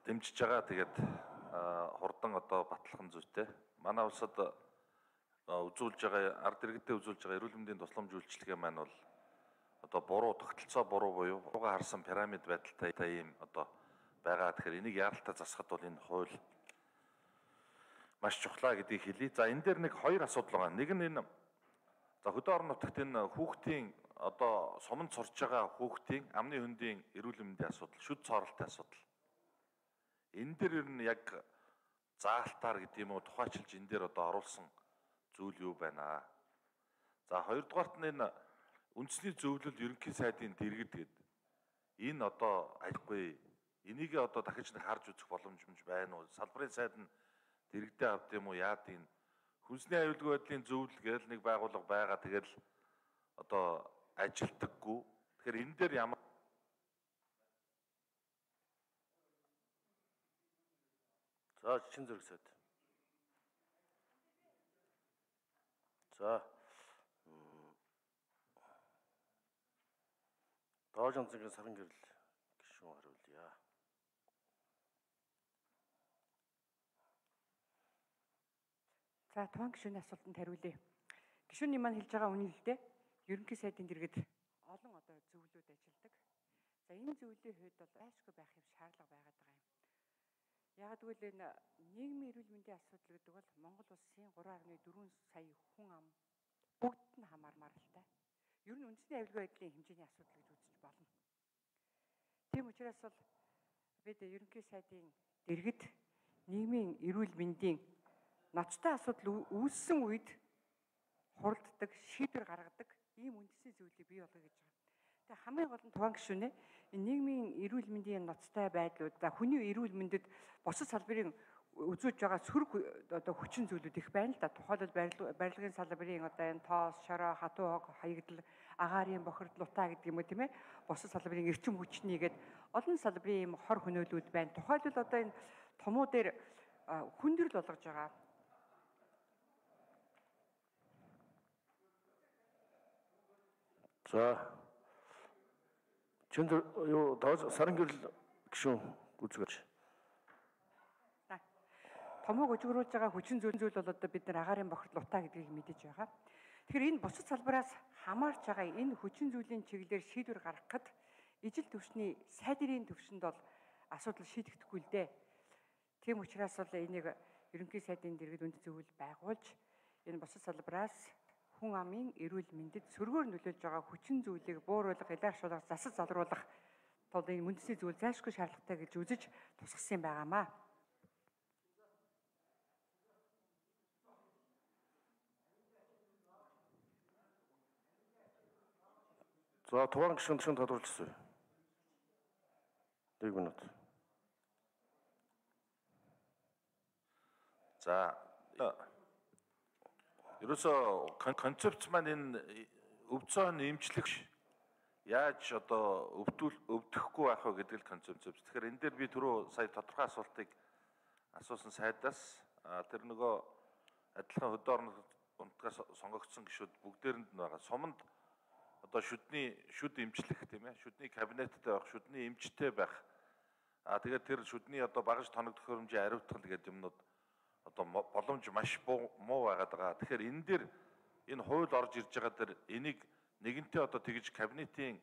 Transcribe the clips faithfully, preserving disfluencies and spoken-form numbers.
дэмжиж байгаа. Тэгээд хурдан одоо батлах зүйтэй. Манай улсад үзүүлж байгаа ард иргэдэд үзүүлж байгаа эрүүл мэндийн тусламж үйлчилгээ маань бол одоо буруу тогтолцоо буруу буюу бурууга харсан пирамид байдалтай ийм одоо байгаа. Тэгэхээр энийг яаралтай засахад бол энэ хууль маш чухлаа гэдгийг хэлье. За энэ дээр нэг хоёр асуудал байгаа. Нэг нь энэ за хөдөө орон нутагт энэ хүүхдийн одоо суманд сурч байгаа хүүхдийн амны хөндийн эрүүл мэндийн асуудал, шүд цооролтын асуудал. Энэ дээр ер нь яг заалтаар гэдэг юм уу тухайчилж энэ дээр одоо оруулсан зүйл юу байна аа. За хоёрдугаарт нь энэ үндэсний зөвлөл ерөнхий сайдын дэргэд гэдэг. Энэ одоо аяхгүй энийг одоо дахиж нэг харж үзэх боломжмж байна уу? Салбарын сайд нь дэрэгдээ авд юм уу яад энэ хүнсний аюулгүй байдлын зөвлөл гээл нэг байгууллага байгаа тэгэл одоо ажилтдаггүй. Тэгэхээр энэ дээр ямар за чин зэрэг сайд. За Доожон зэнгийн саран гэрэл гишүүн хариулъя. За тухайн гишүүний асуултанд хариулъя. Гишүүний маань хэлж байгаа үнэн л дээ. Ерөнхий сайдын дэргэд олон одоо зөвлөлүүд ажилладаг. За энэ зөвлөлийн хувьд бол айшгүй байх юм шаардлага байгаад байгаа юм. Яг гэвэл энэ нийгмийн эрүүл мэндийн асуудал гэдэг бол Монгол улсын гурван гаруй дөрвөн сая хүн ам бүгд нь хамаармаар л та. Ер нь үндэсний аюулгүй байдлын хэмжээний асуудал гэж үзэж болно. Тийм учраас бол бид ерөнхий сайдын дэргэд нийгмийн эрүүл мэндийн ноцтой асуудал үүссэн үед хуралддаг, шийдвэр гаргадаг ийм үндэсний зөвлөлийг бий болгоё гэж байгаа. Тэгээ хамгийн гол нь тухайн гишүүнээ энэ нийгмийн эрүүл мэндийн ноцтой байдлууд, за хүний эрүүл мэндэд бусад салбарын үзүүлж байгаа сөрөг одоо хүчин зүйлүүд их байна л да. Тухайлбал барилгын салбарын одоо энэ тоос, шороо, хатуу хог, хаягдал, агаарын бохирдол, утаа гэдэг юм уу тийм ээ. Бусад салбарын эрчим хүчнийгээд олон салбарын ийм хор хөнөөлүүд байна. Тухайлбал одоо энэ томуу дээр хүндрэл болгож байгаа. За чин юу доож саран гэрэл гишүүн үзгэж. Томог өжгөрүүлж байгаа хүчин зүйл зүйл бол одоо бид нар агаарын бохирдол утаа гэдгийг мэдэж байгаа. Тэгэхээр энэ бусад салбараас хамаарч байгаа энэ хүчин зүйлийн чиглэлээр шийдвэр гаргахад ижил төвчний сайдын төвшөнд бол асуудал шийдэгдэхгүй л дээ. Тийм учраас бол энийг ерөнхий сайдын дэргэд үнд зөвлөл байгуулж энэ бусад салбараас хүн амын эрүүл мэндэд сөргөөр нөлөөлж байгаа хүчин зүйлийг бууруулах, илэрхийлэх, засаж залруулах тул энэ үндэсний зөвлөл зайлшгүй шаардлагатай гэж үзэж тусгасан юм байгаамаа. За тухайн гишүүн гишүүн тодорхойлсон. нэг минут. За ерөөсөө концепц маань энэ өвцөн эмчлэх яаж одоо өвдөл өвдөхгүй байх вэ гэдэг л концепц. Тэгэхээр энэ дээр би түрүү сая тодорхой асуултыг асуусан сайдаас тэр нөгөө адилхан хөдөө орон нутгаас сонгогдсон гишүүд бүгдээрэнд нь байгаа. Суманд одоо шүдний шүд эмчлэх тийм ээ, шүдний кабинеттэй байх, шүдний эмчтэй байх. А тэгээд тэр шүдний одоо багаж тоног төхөөрөмжийн ариутгал гэдэг юмнууд одоо боломж маш муу байгаад байгаа. Тэгэхээр энэ дээр энэ хууль орж ирж байгаа дээр энийг нэгэнтээ одоо тэгж кабинетийн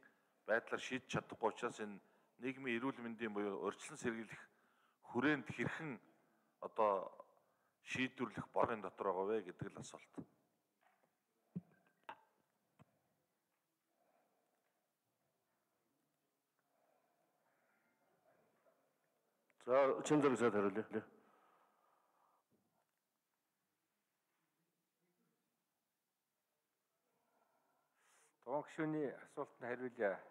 байдлаар шийдэж чадахгүй учраас энэ нийгмийн эрүүл мэндийн буюу урьдчилан сэргийлэх хүрээнд хэрхэн одоо шийдвэрлэх боргын дотор байгаа вэ гэдэг л асуулт. За чин зэрэг сайд хариулъя. Тухайн гишүүний асуултанд хариулъя.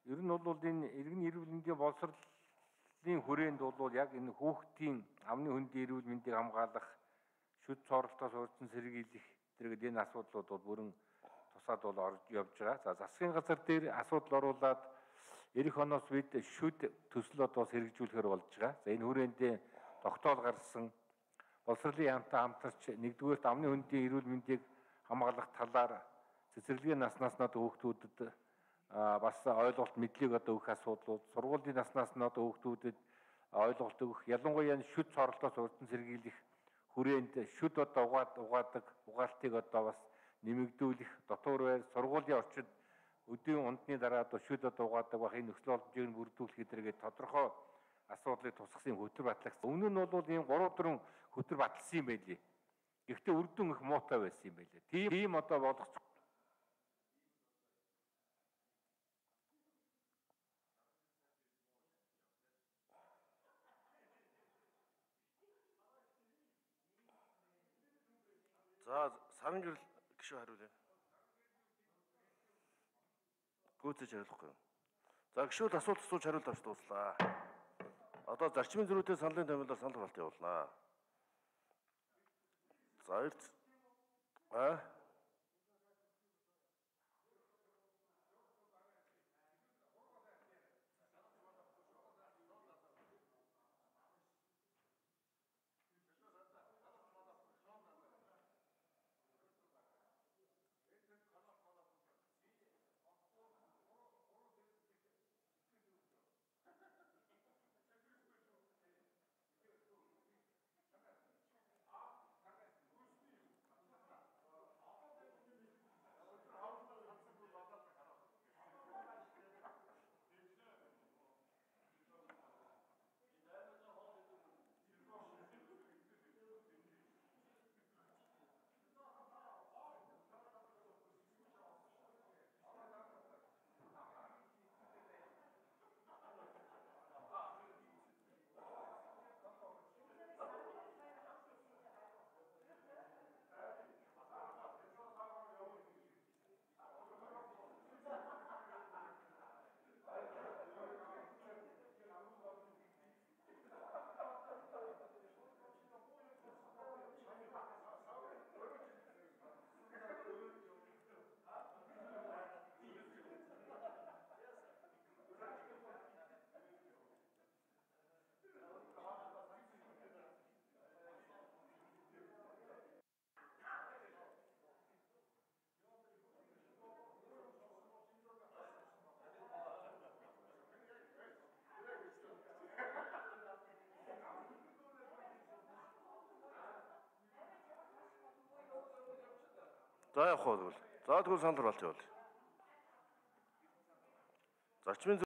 Ер нь бол энэ иргэн эрүүл мэндийн боловсролын хүрээнд бол яг энэ хүүхдийн амны хөндийн эрүүл мэндийг хамгаалах, шүд цооролтоос урьдчилан сэргийлэх зэрэг энэ асуудлууд бол бүрэн тусаад бол орж явж байгаа. За засгийн газар дээр асуудал оруулаад эх оноос бид шүд төсөл одоо сэргэжүүлэхээр болж байгаа. За энэ хүрээнд тогтоол гарсан боловсролын яамтай хамтарч нэгдүгээрт амны хөндийн эрүүл мэндийг хамгаалах талаар цэцэрлэгийн наснаас нь одоо хүүхдүүдэд бас ойлголт мэдлэг одоо өгөх асуудлууд, сургуулийн наснаас нь одоо хүүхдүүдэд ойлголт өгөх, ялангуяа энэ шүд цоролтоос урьдан сэргийлэх хүрээнд шүд одоо угаад угаадаг угаалтыг одоо бас нэмэгдүүлэх, дотор байр сургуулийн орчинд өдийн ундны дараа одоо шүд одоо угаадаг бах энэ нөхцөл боломжийг нь бүрдүүлэх гэдэргээ тодорхой асуудлыг тусгасан хөтөр батлагч. Өмнө нь бол ийм гурав дөрвөн хөтөр батлсан юм байлээ. Гэхдээ үр дүн их муутай байсан юм байлээ. Тийм тийм одоо болох. За сарын гэрэл гишүү хариулъя. Гүйцэж хариулахгүй. За гишүүд асуулт асууж хариулт авч дууслаа. Одоо зарчмын зөрүүтэй саналын томилоор санал хураалт явуулнаа. За эрт а За явах бол. За тэгвэл санал хураалт явуул. Зарчмын